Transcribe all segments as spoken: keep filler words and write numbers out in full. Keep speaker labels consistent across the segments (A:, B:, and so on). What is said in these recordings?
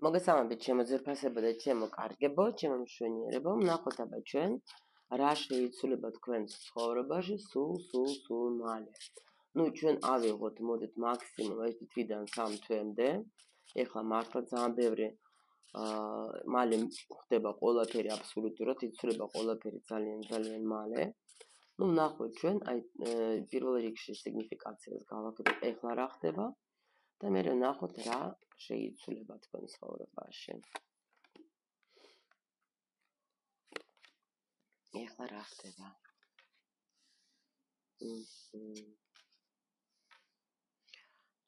A: მოგესალმებით ჩემო ძვირფასებო და ჩემო კარგებო, ჩემო მშვენიერებო, ვნახოთ აბა ჩვენ რა შეიცვლება თქვენს ცხოვრებაში სულ სულ სულ მალე. ნუ ჩვენ ავიღოთ მოდით მაქსიმუმ ერთი თვიდან სამ თვემდე. ეხლა მართლა ძალიან ბევრი აა მალე ხდება ყველაფერი აბსოლუტურად, იცვლება ყველაფერი ძალიან ძალიან მალე. ნუ ვნახოთ ჩვენ აი პირველ რიგში სიგნიფიკაციას გავაკეთოთ ეხლა რა ხდება. და მე ვნახოთ რა შეიცვლება თქვენ ცხოვრებაში. ეხლა რა ხდება?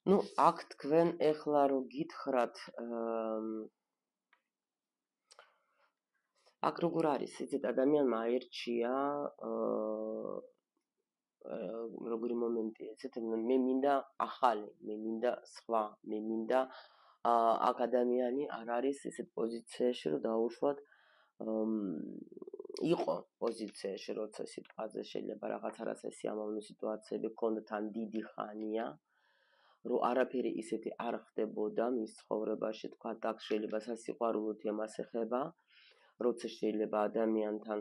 A: ნუ აქ თქვენ ეხლა რო გითხრათ აქ როგორ არის, იცით, ადამიანმა აირჩია როგორი მომენტია, იცით, მე მინდა ახალი, მე მინდა სხვა, მე მინდა აქ ადამიანი არ არის ისეთ პოზიციაში, რომ დაუშვათ იყო პოზიციაში, როცა სიტყვაზე შეიძლება რაღაც რაღაცა სიამოვნო სიტუაციები ქონდა თან დიდი ხანია, რომ არაფერი ისეთი არ ხდებოდა მის ცხოვრებაში, თქვა აქ შეიძლება სასიყვარულო თემას ეხება, როცა შეიძლება ადამიანთან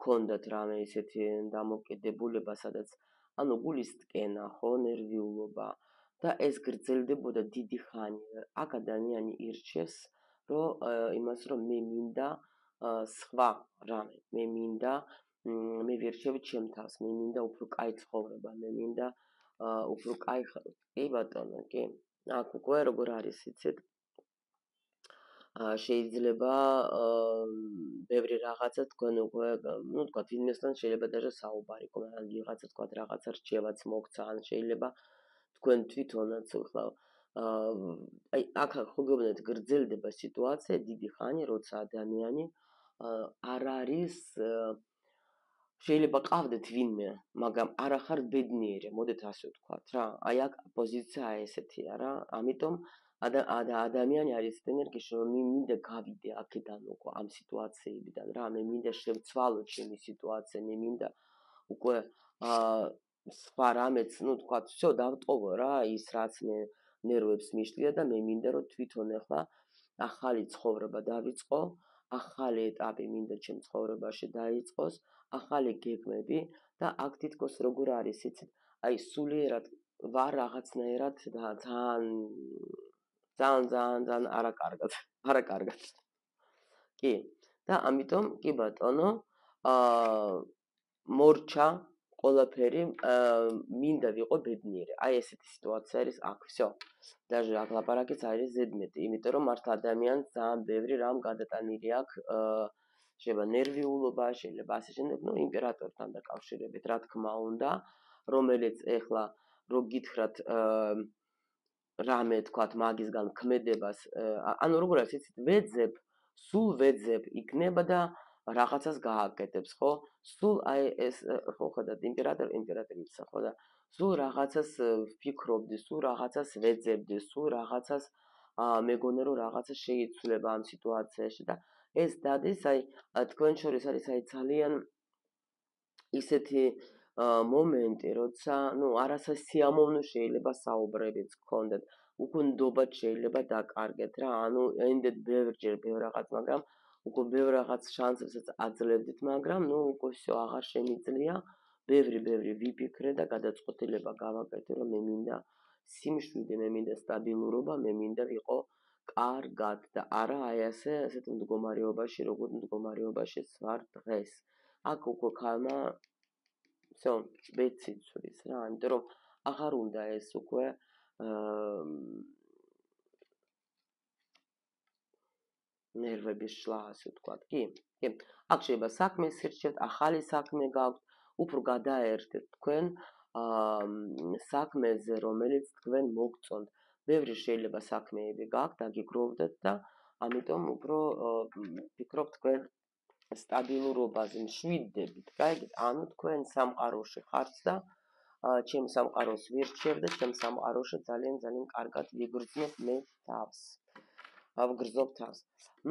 A: ქონდათ რამე ისეთი დამოკიდებულება, სადაც ანუ გულის ტკენა, ხო, ნერვიულობა და ეს გრძელდებოდა დიდი ხანი. აქ ადამიანი ირჩევს, რომ იმას, რომ მე მინდა სხვა რამე, მე მინდა მე ვირჩევ ჩემ თავს, მე მინდა უფრო კაი ცხოვრება, მე მინდა უფრო კაი კი ბატონო, კი. აქ უკვე როგორ არის, იცით? შეიძლება ბევრი რაღაცა თქვენ უკვე, ну, თქვა ვინმესთან შეიძლება даже საუბარი იყო, მაგრამ ვიღაცა თქვა რაღაცა რჩევაც მოგცა, ან შეიძლება თქვენ თვითონაც ხლა აი აქ ხო გეუბნებით გრძელდება სიტუაცია დიდი ხანი, როცა ადამიანი არ არის შეიძლება ყავდეთ ვინმე, მაგრამ არ ახარ ბედნიერი, მოდით ასე ვთქვათ რა. აი აქ პოზიცია ესეთია რა. ამიტომ ადამიანი არის ენერგიაში, რომ მინდა გავიდე აქედან უკვე ამ სიტუაციებიდან რა, მე მინდა შევცვალო ჩემი სიტუაცია, მე მინდა უკვე სხვა რამეც, ну, თქვათ, всё, დავტოვო რა, ის რაც მე ნერვებს მიშლია და მე მინდა რომ თვითონ ახლა ახალი ცხოვრება დავიწყო, ახალი ეტაპი მინდა ჩემ ცხოვრებაში დაიწყოს, ახალი გეგმები და აქ თითქოს როგორ არის, იცით, აი სულიერად ვარ რაღაცნაირად და ძალიან ძალიან ძალიან ძალიან არაკარგად, არაკარგად. კი, და ამიტომ კი ბატონო, აა მორჩა ყველაფერი, მინდა ვიყო ბედნიერი. აი ესეთი სიტუაცია არის აქ, всё. даже აქ ლაპარაკიც არის ზედმეტი, იმიტომ რომ მართლა ადამიანს ძალიან ბევრი რამ გადატანილი აქვს, შეიძლება ნერვიულობა, შეიძლება ასე შემდეგ, ну, იმპერატორთან დაკავშირებით, რა თქმა უნდა, რომელიც ეხლა რო გითხრათ რამე თქვათ მაგისგან ქმედებას, ანუ როგორ არის, იცით, ვეძებ, სულ ვეძებ იქნება და რაღაცას გააკეთებს, ხო? სულ აი ეს ხო ხედავთ იმპერატორ იმპერატრიცა, ხო და სულ რაღაცას ვფიქრობდი, სულ რაღაცას ვეძებდი, სულ რაღაცას მეგონა რომ რაღაცა შეიცვლება ამ სიტუაციაში და ეს დადის აი თქვენ შორის არის აი ძალიან ისეთი მომენტი, როცა, ну, არასასიამოვნო შეიძლება საუბრებიც გქონდეთ, უკვე ნდობად შეიძლება დაკარგეთ რა, ანუ ენდეთ ბევრჯერ ბევრ რაღაც, მაგრამ უკვე ბევრ რაღაც შანსებსაც აძლევდით, მაგრამ, ну, უკვე всё აღარ შემიძლია, ბევრი ბევრი ვიფიქრე და გადაწყვეტილება გავაკეთე, რომ მე მინდა სიმშვიდე, მე მინდა სტაბილურობა, მე მინდა ვიყო კარგად და არა აი ასე ასეთ მდგომარეობაში, როგორ მდგომარეობაშიც ვარ დღეს. აქ უკვე ხალმა всё, ბეცი ცვლის რა, იმიტომ რომ აღარ უნდა ეს უკვე ნერვების შლა, ასე ვთქვათ, კი? კი. აქ შეიძლება საქმეს ირჩევთ, ახალი საქმე გაქვთ, უფრო გადაერთეთ თქვენ საქმეზე, რომელიც თქვენ მოგწონთ. ბევრი შეიძლება საქმეები გაქვთ, დაგიგროვდეთ და ამიტომ უფრო ვფიქრობ თქვენ სტაბილურობაზე მშვიდდებით, გაიგეთ? ანუ თქვენ სამყაროში ხართ და ჩემ სამყაროს ვირჩევ და ჩემ სამყაროში ძალიან ძალიან კარგად ვიგრძნობ მე თავს. ავგრძნობ თავს.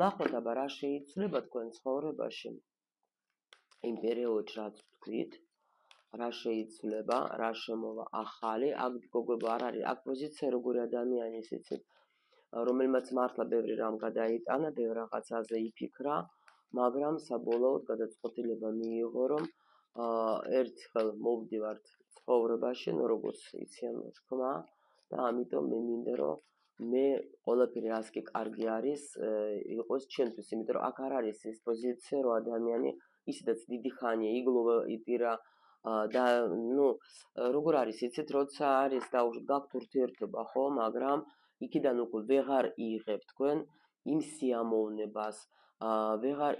A: ნახოთ აბა რა შეიცვლება თქვენ ცხოვრებაში იმ პერიოდში, რაც ვთქვით, რა შეიცვლება, რა შემოვა ახალი, აქ გოგოებო არ არის, აქ პოზიცია როგორი ადამიანის, იცით, რომელმაც მართლა ბევრი რამ გადაიტანა, ბევრ რაღაცაზე იფიქრა, მაგრამ საბოლოოდ გადაწყვეტილება მიიღო, რომ ერთხელ მოვდივართ ცხოვრებაში, ნუ როგორც იციან თქმა, და ამიტომ მე მინდა რომ მე ყველაფერი ასე კი კარგი არის, იყოს ჩემთვის, იმიტომ რომ აქ არ არის ის პოზიცია, რომ ადამიანი ისედაც დიდი ხანია იგლოვა, იტირა და ნუ როგორ არის, იცით, როცა არის დაუშვათ გაქვთ ურთიერთობა, ხო, მაგრამ იქიდან უკვე ვეღარ იღებ თქვენ იმ სიამოვნებას, ვეღარ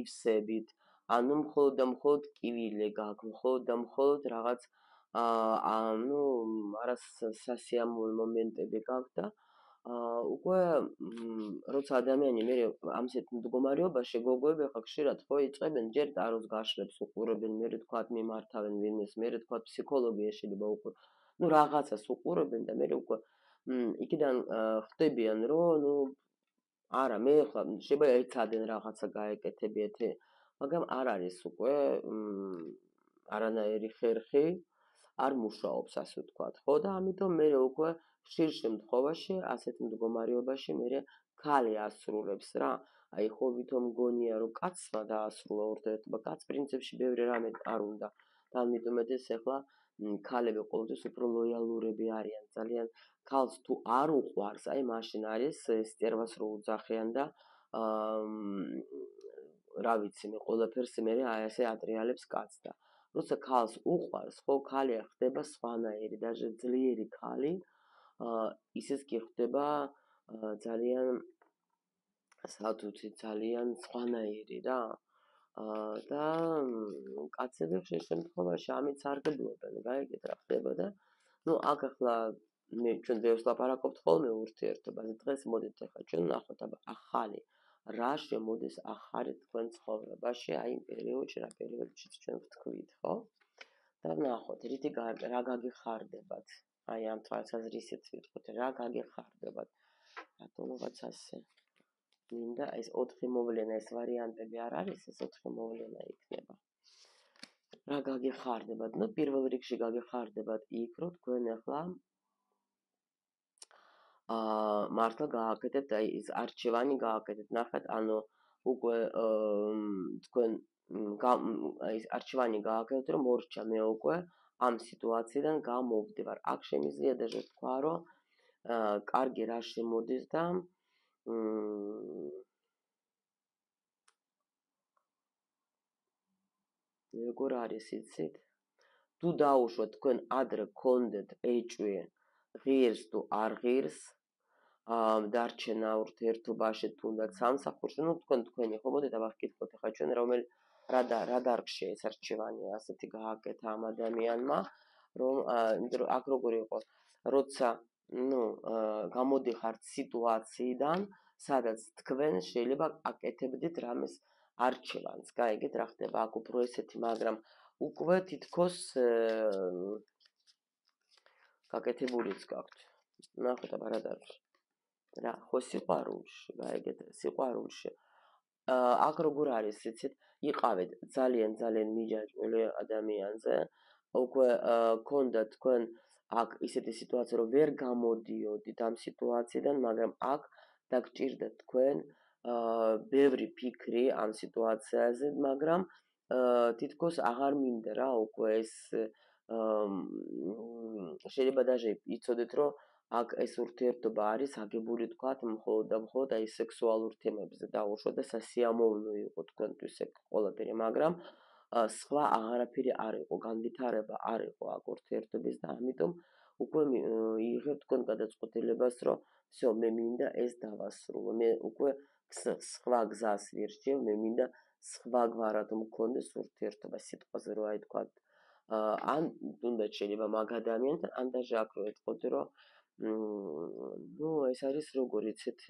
A: ივსებით, ანუ მხოლოდ და მხოლოდ კივილე გაქვთ, მხოლოდ და მხოლოდ რაღაც აა ნუ არასასიამოვნო მომენტები გაქვთ და უკვე როცა ადამიანი მე ამ ისეთ მდგომარეობაში გოგოები ხა ხშირად ხო იწყებენ ჯერ ტაროს გაშლებს უყურებენ, მე თქვათ მიმართავენ ვინმეს, მე თქვათ ფსიქოლოგია შეიძლება უკვე ნუ რაღაცას უყურებენ და მე უკვე იქიდან ხდებიან რომ ნუ არა მე ხა შეიძლება ეცადენ რაღაცა გაეკეთებიათ, მაგრამ არ არის უკვე არანაირი ხერხი არ მუშაობს ასე ვთქვათ, ხო და ამიტომ მე უკვე ხშირ შემთხვევაში ასეთ მდგომარეობაში მე ქალი ასრულებს რა, აი ხო ვითომ გონია რომ კაცმა დაასრულა ურთიერთობა, კაც პრინციპში ბევრი რამე არ უნდა და ამიტომაც ეს ახლა ქალები ყოველთვის უფრო ლოიალურები არიან, ძალიან ქალს თუ არ უყვარს, აი მაშინ არის სტერვას რო უძახიან და რა ვიცი მე ყველაფერს მე აი ასე ატრიალებს კაცს და როცა ქალს უყვარს, ხო ქალი ხდება სხვანაირი, даже ძლიერი ქალი, ისიც კი ხდება ძალიან სათუთი, ძალიან სხვანაირი რა. და კაცები ხშირ შემთხვევაში ამით სარგებლობენ, გაიგეთ რა ხდება და ნუ აქ ახლა მე ჩვენ ბევრს ლაპარაკობთ ხოლმე ურთიერთობაზე, დღეს მოდით ახლა ჩვენ ნახოთ აბა ახალი რა შემოდის ახალი თქვენ ცხოვრებაში, აი იმ პერიოდში, რა პერიოდში ჩვენ ვთქვით, ხო? და ნახოთ, რითი რა გაგიხარდებათ, აი ამ თვალსაზრისით ვიტყვით, რა გაგიხარდებათ, რატომღაც ასე მინდა ეს ოთხი მოვლენა, ეს ვარიანტები არ არის, ეს ოთხი მოვლენა იქნება. რა გაგიხარდებათ? ნუ პირველ რიგში გაგიხარდებათ იქ, რომ თქვენ ახლა აა მართლა გააკეთებთ აი ეს არჩევანი გააკეთებთ, ნახეთ, ანუ უკვე თქვენ აი ეს არჩევანი გააკეთებთ, რომ მორჩა მე უკვე ამ სიტუაციიდან გამოვდივარ. აქ შემიძლია даже თქვა, რომ კარგი რა შემოდის და როგორ არის იცით? თუ დაუშვათ თქვენ ადრე გქონდეთ ეჭვი ღირს თუ არ ღირს დარჩენა ურთიერთობაში თუნდაც სამსახურში, ნუ თქვენ თქვენი ხო მოდით აბა ვკითხოთ ახლა ჩვენ რომელ რა რა დარგშია ეს არჩევანი ასეთი გააკეთა ამ ადამიანმა, რომ იმიტომ რომ აქ როგორ იყო, როცა ნუ გამოდიხართ სიტუაციიდან, სადაც თქვენ შეიძლება აკეთებდით რამეს არჩევანს, გაიგეთ რა ხდება აქ უფრო ესეთი, მაგრამ უკვე თითქოს გაკეთებულიც გაქვთ. ნახეთ აბა რა დარგში. რა ხო სიყვარულში, გაიგეთ, სიყვარულში. აქ როგორ არის, იცით, იყავით ძალიან ძალიან მიჯაჭვული ადამიანზე, უკვე გქონდა თქვენ აქ ისეთი სიტუაცია, რომ ვერ გამოდიოდით ამ სიტუაციიდან, მაგრამ აქ დაგჭირდათ თქვენ ბევრი ფიქრი ამ სიტუაციაზე, მაგრამ თითქოს აღარ მინდა რა უკვე ეს შეიძლება даже იცოდეთ, რომ აქ ეს ურთიერთობა არის აგებული თქვათ მხოლოდ და მხოლოდ აი სექსუალურ თემებზე დაუშვათ და სასიამოვნო იყო თქვენთვის ეგ ყველაფერი, მაგრამ სხვა აღარაფერი არ იყო, განვითარება არ იყო აქ ურთიერთობის და ამიტომ უკვე იღებთ თქვენ გადაწყვეტილებას, რომ всё, მე მინდა ეს დავასრულო, მე უკვე სხვა გზას ვირჩევ, მე მინდა სხვაგვარად მქონდეს ურთიერთობა, სიტყვაზე რო აი თქვათ ან თუნდაც შეიძლება მაგ ადამიანთან, ან даже აქ რო ეთქოთ, რომ ნუ ეს არის როგორ იცით,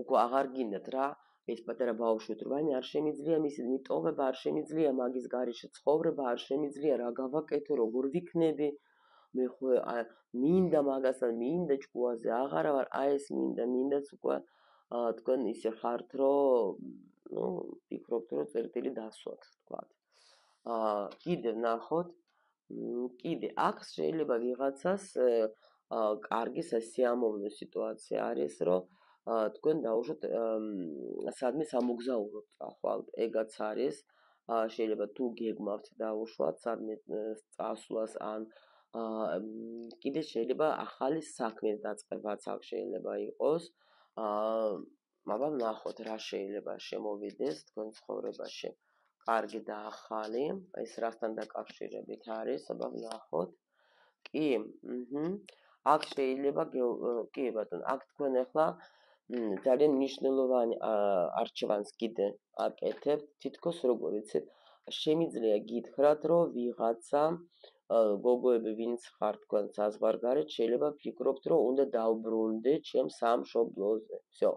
A: უკვე აღარ გინდათ რა ეს პატარა ბავშვი თუ რაიმე არ შემიძლია მისი მიტოვება, არ შემიძლია მაგის გარეშე ცხოვრება, არ შემიძლია რა გავაკეთო, როგორ ვიქნები, მე ხო მინდა მაგასთან, მინდა ჭკუაზე აღარა ვარ, აი ეს მინდა, მინდაც უკვე თქვენ ისე ხართ, რომ ნუ ფიქრობთ, რომ წერტილი დასვათ, თქვათ. აა კიდევ ნახოთ, კიდე აქ შეიძლება ვიღაცას კარგი სასიამოვნო სიტუაცია არის, რომ თქვენ დაუშვათ სადმე სამოგზაუროდ წახვალთ, ეგაც არის. შეიძლება თუ გეგმავთ დაუშვათ სადმე წასვლას ან კიდე შეიძლება ახალი საქმის დაწყებაც აქ შეიძლება იყოს. მაგრამ ნახოთ რა შეიძლება შემოვიდეს თქვენ ცხოვრებაში. კარგი და ახალი, ეს რასთან დაკავშირებით არის, აბა ვნახოთ. კი, აჰა. აქ შეიძლება კი ბატონო, აქ თქვენ ახლა ძალიან მნიშვნელოვანი არჩევანს კიდე აკეთებთ, თითქოს როგორ იცით, შემიძლია გითხრათ, რომ ვიღაცა გოგოები ვინც ხართ თქვენ საზღვარგარეთ, შეიძლება ფიქრობთ, რომ უნდა დავბრუნდე ჩემ სამშობლოზე. всё.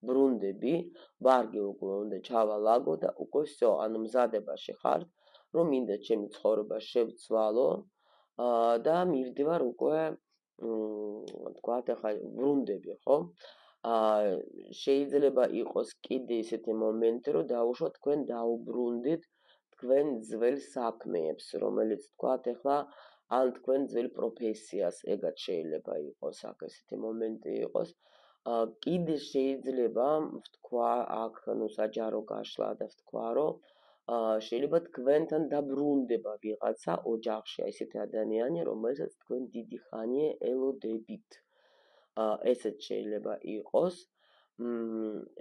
A: ბრუნდები, ვარგი უკვე უნდა ჩავალაგო და უკვე всё, ანუ მზადებაში ხართ, რომ მინდა ჩემი ცხოვრება შევცვალო და მივდივარ უკვე თქვათ ახლა ბრუნდები, ხო? შეიძლება იყოს კიდე ისეთი მომენტი, რომ დაუშვათ თქვენ დაუბრუნდით თქვენ ძველ საქმეებს, რომელიც თქვათ ახლა ან თქვენ ძველ პროფესიას, ეგაც შეიძლება იყოს, აქ ესეთი მომენტი იყოს. კიდე შეიძლება ვთქვა აქ ნუ საჯარო გაშლა და ვთქვა, რომ შეიძლება თქვენთან დაბრუნდება ვიღაცა ოჯახში, ესეთი ადამიანი, რომელსაც თქვენ დიდი ხანია ელოდებით. ესეც შეიძლება იყოს.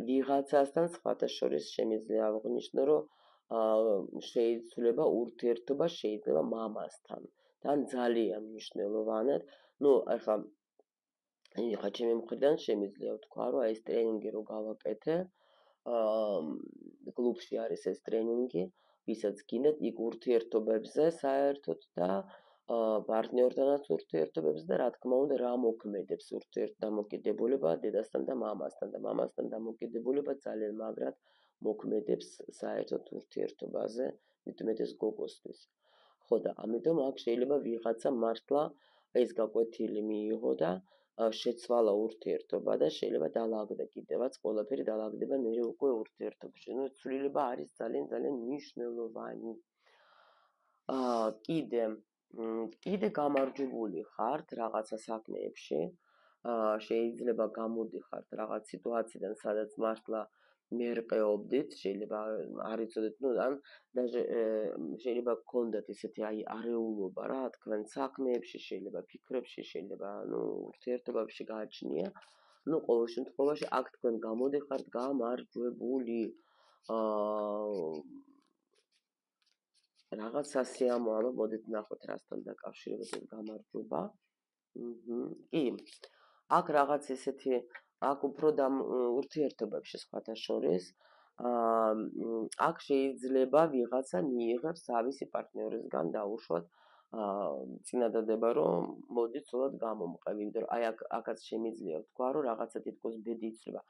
A: ვიღაცასთან სხვათა შორის შემიძლია აღვნიშნო, რომ შეიძლება ურთიერთობა შეიძლება მამასთან. თან ძალიან მნიშვნელოვანად, ნუ ახლა ეხლა ჩემი მხრიდან შემიძლია ვთქვა, რომ ეს ტრენინგი რო გავაკეთე, კლუბში არის ეს ტრენინგი, ვისაც გინდათ იქ ურთიერთობებზე საერთოდ და პარტნიორთანაც ურთიერთობებზე და რა თქმა უნდა რა მოქმედებს ურთიერთდამოკიდებულება დედასთან და მამასთან და მამასთან დამოკიდებულება ძალიან მაგრად მოქმედებს საერთოდ ურთიერთობაზე, მეტუმეტეს გოგოსთვის. ხო და ამიტომ აქ შეიძლება ვიღაცა მართლა ეს გაკვეთილი მიიღო და შეცვალა ურთიერთობა და შეიძლება დაალაგდა კიდევაც ყველაფერი დაალაგდება მე უკვე ურთიერთობაში. ნუ ცვლილება არის ძალიან ძალიან მნიშვნელოვანი. აა კიდე კიდე გამარჯვებული ხართ რაღაცა საქმეებში. აა შეიძლება გამოდიხართ რაღაც სიტუაციიდან, სადაც მართლა მერყეობდით, შეიძლება არ იცოდეთ, ნუ ან даже შეიძლება გქონდეთ ისეთი აი არეულობა რა, თქვენ საქმეებში, შეიძლება ფიქრებში, შეიძლება ნუ ურთიერთობებში გააჩნია. ნუ ყოველ შემთხვევაში აქ თქვენ გამოდიხართ გამარჯვებული. აა რაღაც სასიამო, აბა მოდით ნახოთ რასთან დაკავშირებით გამარჯვება. აჰა. კი. აქ რაღაც ესეთი აქ უფრო და ურთიერთობებში სხვათა შორის აა აქ შეიძლება ვიღაცა მიიღებს თავისი პარტნიორისგან დაუშვათ აა წინადადება, რომ მოდი ცოლად გამომყევი, იმიტომ რომ აი აქ აქაც შემიძლია ვთქვა, რომ რაღაცა თითქოს ბედი იცვლება.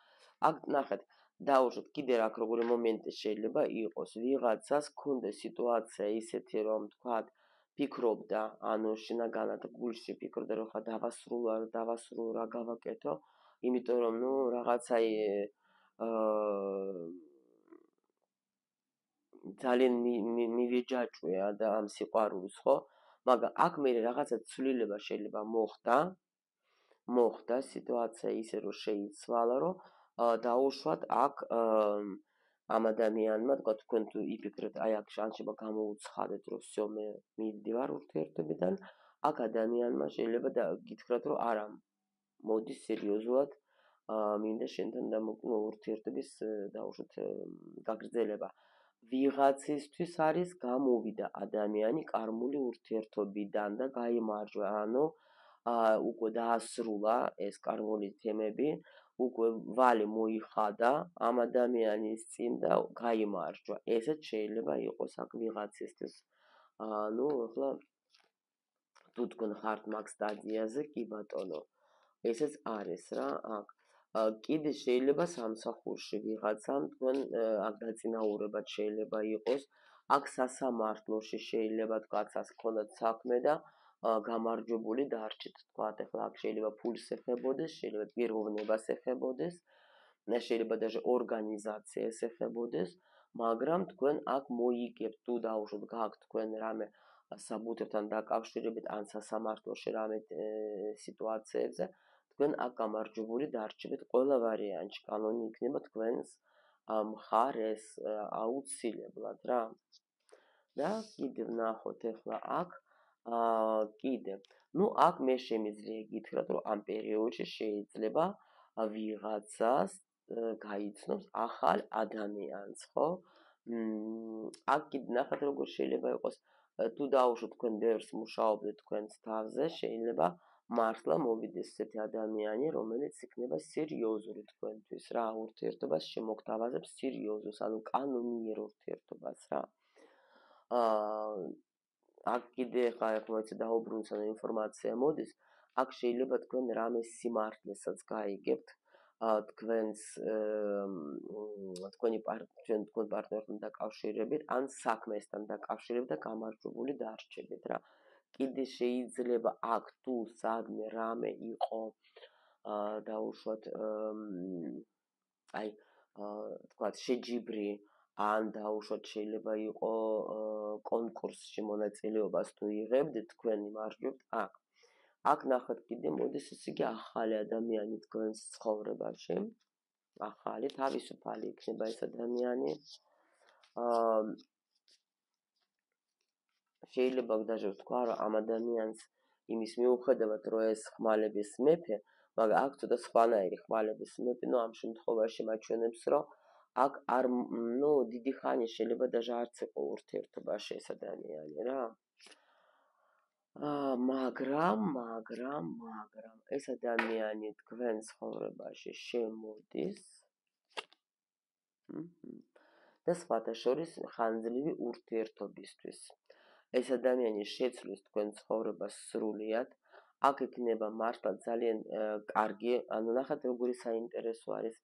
A: აქ ნახეთ, დაუშვათ კიდე რა როგორი მომენტი შეიძლება იყოს, ვიღაცას ქონდა სიტუაცია ისეთი, რომ თქვათ ფიქრობდა, ანუ შინაგანად გულში ფიქრობდა, რომ ხა დავასრულო, დავასრულო, რა გავაკეთო, იმიტომ რომ ნუ რაღაცა აა ძალიან მივეჯაჭვია და ამ სიყვარულს, ხო? მაგრამ აქ მე რაღაცა ცვლილება შეიძლება მოხდა, მოხდა სიტუაცია ისე რომ შეიცვალა, რომ დაუშვათ აქ ამ ადამიანმა, თქვა თქვენ თუ იფიქრეთ, აი აქ შეიძლება გამოუცხადეთ, რომ всё მე მივდივარ ურთიერთობიდან, აქ ადამიანმა შეიძლება და გითხრათ, რომ არა, მოდი სერიოზულად მინდა შენთან დამოკიდო ურთიერთობის დაუშვათ გაგრძელება. ვიღაცისთვის არის გამოვიდა ადამიანი კარმული ურთიერთობიდან და გაიმარჯვა, ანუ უკვე დაასრულა ეს კარმული თემები, უკვე ვალი მოიხადა ამ ადამიანის წინ და გაიმარჯვა. ესეც შეიძლება იყოს აქ ვიღაცისთვის. ანუ ახლა თუ თქვენ ხართ მაგ სტადიაზე, კი ბატონო, ესეც არის რა აქ. კიდე შეიძლება სამსახურში ვიღაცამ თქვენ აქ დაწინაურებად შეიძლება იყოს, აქ სასამართლოში შეიძლება თქვაც გქონდათ საქმე და გამარჯვებული დარჩით, თქვათ ახლა აქ შეიძლება ფულს ეხებოდეს, შეიძლება პიროვნებას ეხებოდეს, შეიძლება даже ორგანიზაციას ეხებოდეს, მაგრამ თქვენ აქ მოიგებთ თუ დაუშვათ გაქვთ თქვენ რამე საბუთებთან დაკავშირებით ან სასამართლოში რამე სიტუაციებზე, თქვენ აქ გამარჯვებული დარჩებით ყველა ვარიანტში. კანონი იქნება თქვენს მხარეს აუცილებლად რა. და კიდევ ნახოთ ახლა აქ კიდევ. ნუ აქ მე შემიძლია გითხრათ, რომ ამ პერიოდში შეიძლება ვიღაცას გაიცნობს ახალ ადამიანს, ხო? აქ კიდე ნახეთ როგორ შეიძლება იყოს, თუ დაუშვოთ თქვენ ბევრს მუშაობდეთ თქვენს თავზე, შეიძლება მართლა მოვიდეს ესეთი ადამიანი, რომელიც იქნება სერიოზული თქვენთვის რა, ურთიერთობას შემოგთავაზებს სერიოზულს, ანუ კანონიერ ურთიერთობას რა. აა აქ კიდე ხა ახლა ეცე დაუბრუნდა ინფორმაცია მოდის, აქ შეიძლება თქვენ რამე სიმართლესაც გაიგებთ თქვენს თქვენი პარტნიორთან თქვენ პარტნიორთან დაკავშირებით ან საქმესთან დაკავშირებით და გამარჯვებული დარჩებით რა. კიდე შეიძლება აქ თუ სადმე რამე იყო დაუშვათ აი თქვათ შეჯიბრი ან დაუშვათ შეიძლება იყო კონკურსში მონაწილეობას თუ იღებდით თქვენ იმარჯვებთ აქ. აქ ნახეთ კიდე მოდის ესე იგი ახალი ადამიანი თქვენს ცხოვრებაში. ახალი, თავისუფალი იქნება ეს ადამიანი. აა შეიძლება даже ვთქვა, რომ ამ ადამიანს იმის მიუხედავად, რომ ეს ხმალების მეფე, მაგრამ აქ ცოტა სხვანაირი ხმალების მეფე, ну ამ შემთხვევაში მაჩვენებს, რომ აქ არ, ну დიდი ხანი შეიძლება даже არც იყო ურთიერთობაში ეს ადამიანი რა. აა მაგრამ, მაგრამ, მაგრამ ეს ადამიანი თქვენ ცხოვრებაში შემოდის. და სხვათა შორის ხანძლივი ურთიერთობისთვის. ეს ადამიანი შეცვლის თქვენ ცხოვრებას სრულიად. აქ იქნება მართლა ძალიან კარგი, ანუ ნახეთ როგორი საინტერესო არის.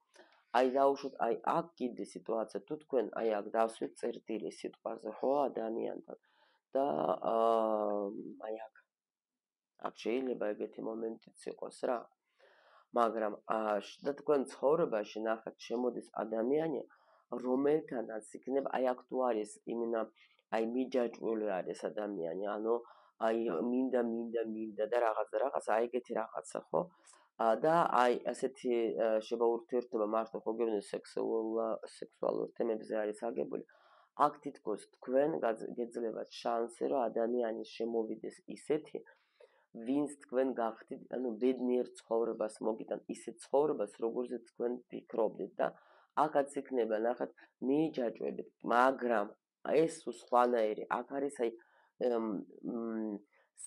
A: აი დაუშვოთ, აი აქ კიდე სიტუაცია, თუ თქვენ აი აქ დავსვით წერტილი სიტყვაზე, ხო, ადამიანთან და აი აქ აქ შეიძლება ეგეთი მომენტიც იყოს რა. მაგრამ და თქვენ ცხოვრებაში ნახეთ შემოდის ადამიანი, რომელთანაც იქნება აი აქ თუ არის იმენა აი მიჯაჭვული არის ადამიანი, ანუ აი მინდა მინდა მინდა და რაღაცა რაღაცა აი ეგეთი რაღაცა, ხო? და აი ასეთი შეიძლება ურთიერთობა მართლა ხო გეუბნები სექსუალურ თემებზე არის აგებული. აქ თითქოს თქვენ გეძლებათ შანსი, რომ ადამიანი შემოვიდეს ისეთი, ვინც თქვენ გახდით, ანუ ბედნიერ ცხოვრებას მოგიტან, ისეთ ცხოვრებას, როგორზეც თქვენ ფიქრობდით და აქაც იქნება ნახეთ მიჯაჭვებით, მაგრამ ეს სხვანაირი, აქ არის აი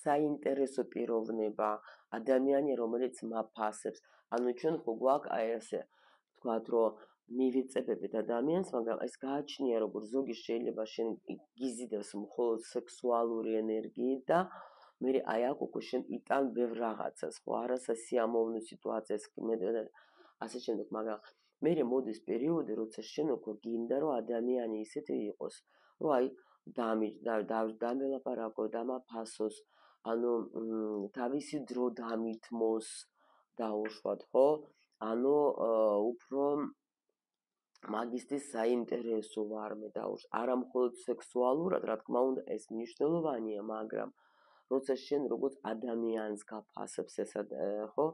A: საინტერესო პიროვნება, ადამიანი, რომელიც მაფასებს. ანუ ჩვენ ხო გვაქვს აი ესე თქვათ, რომ მივიწებებით ადამიანს, მაგრამ ეს გააჩნია, როგორ ზოგი შეიძლება შენ გიზიდავს მხოლოდ სექსუალური ენერგიით და მე აი აქ უკვე შენ იტან ბევრ რაღაცას, ხო, არასასიამოვნო სიტუაციას, ასე შემდეგ, მაგრამ მე მოდის პერიოდი, როცა შენ უკვე გინდა, რომ ადამიანი ისეთი იყოს, რომ აი დამელაპარაკო, დამაფასოს, ანუ თავისი დრო დამითმოს, დაუშვათ, ხო? ანუ უფრო მაგისტრის საინტერესო ვარმე დაუშვათ, არა მხოლოდ სექსუალურად, რა თქმა უნდა, ეს მნიშვნელოვანია, მაგრამ როცა შენ როგორც ადამიანს გაფასებს ეს ხო,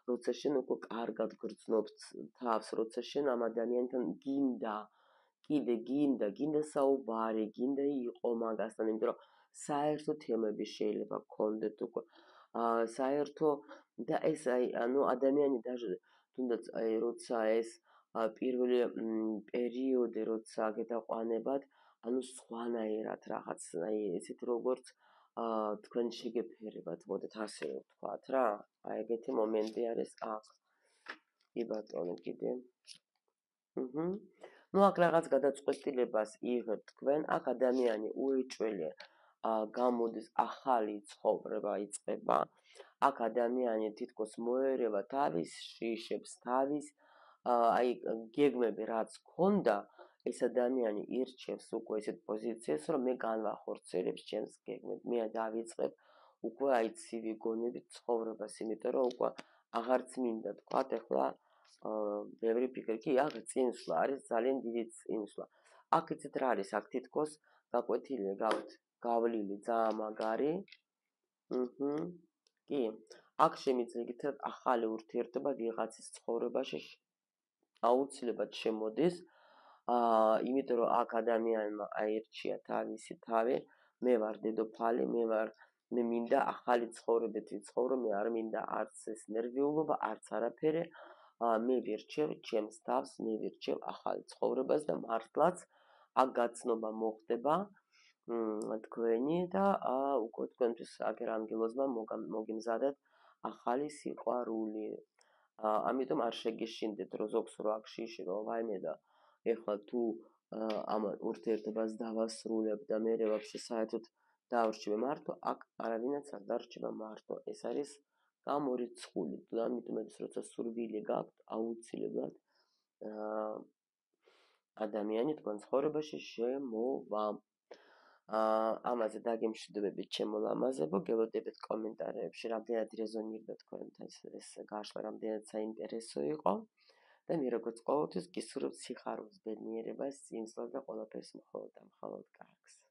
A: როცა შენ უკვე კარგად გრძნობ თავს, როცა შენ ამ ადამიანთან გინდა, კიდე გინდა, გინდა საუბარი, გინდა იყო მაგასთან, იმიტომ რომ საერთო თემები შეიძლება გქონდეთ უკვე. აა საერთო და ეს აი ანუ ადამიანი даже თუნდაც აი როცა ეს პირველი პერიოდი როცა გეტაყვანებათ, ანუ სხვანაირად რაღაც, აი ესეთ როგორც აა თქვენ შეგეფერებათ, მოდით ასე ვთქვათ რა. აი ეგეთი მომენტი არის აქ. კი ბატონო, კიდე. აჰა. ну აქ რაღაც გადაწყვეტილებას იღებთ თქვენ, აქ ადამიანი უეჭველი გამოდის, ახალი ცხოვრება იწყება. აქ ადამიანი თითქოს მოერევა თავის შიშებს, თავის აი გეგმები რაც ქონდა, ეს ადამიანი ირჩევს უკვე ესეთ პოზიციას, რომ მე განვახორციელებ ჩემს გეგმებს, მე დავიწყებ უკვე აი ცივი გონებით ცხოვრებას, იმიტომ რომ უკვე აღარც მინდა თქვათ ახლა ბევრი ფიქრი, კი, აქ წინსვლა არის ძალიან დიდი წინსვლა. აქ იცით რა არის, აქ თითქოს გაკვეთილი გაქვთ, გავლილი ძალიან მაგარი. ჰმმ. კი. აქ შემიძლია გითხრათ ახალი ურთიერთობა ვიღაცის ცხოვრებაში აუცილებლად შემოდის. აა, იმიტომ რომ აქ ადამიანმა აირჩია თავისი თავი, მე ვარ დედოფალი, მე ვარ მე მინდა ახალი ცხოვრებით ვიცხოვრო, მე არ მინდა არც ეს ნერვიულობა, არც არაფერი. აა, მე ვირჩევ ჩემს თავს, მე ვირჩევ ახალ ცხოვრებას და მართლაც აქ გაცნობა მოხდება თქვენი და უკვე თქვენთვის აგერანგელოზმა მოგიმზადეთ ახალი სიყვარული. ამიტომ არ შეგეშინდეთ რომ ზოგს რო აქ შიში რომ ვაიმე და ეხლა თუ ამ ურთიერთობას დავასრულებ და მე ვაფშე საერთოდ დავრჩები მარტო, აქ არავინაც არ დარჩება მარტო. ეს არის გამორიცხული. ამიტომ ეს როცა სურვილი გაქვთ, აუცილებლად ადამიანი თქვენ ცხოვრებაში შემოვა. აა, ამაზე დაგემშვიდობებით ჩემო ლამაზებო, გელოდებით კომენტარებში, რამდენად რეზონირდა თქვენთან ეს გაშლა, რამდენად საინტერესო იყო და მე როგორც ყოველთვის გისურვებთ სიხარულს, ბედნიერებას, წინსვლას და ყველაფერს მხოლოდ და მხოლოდ კარგს.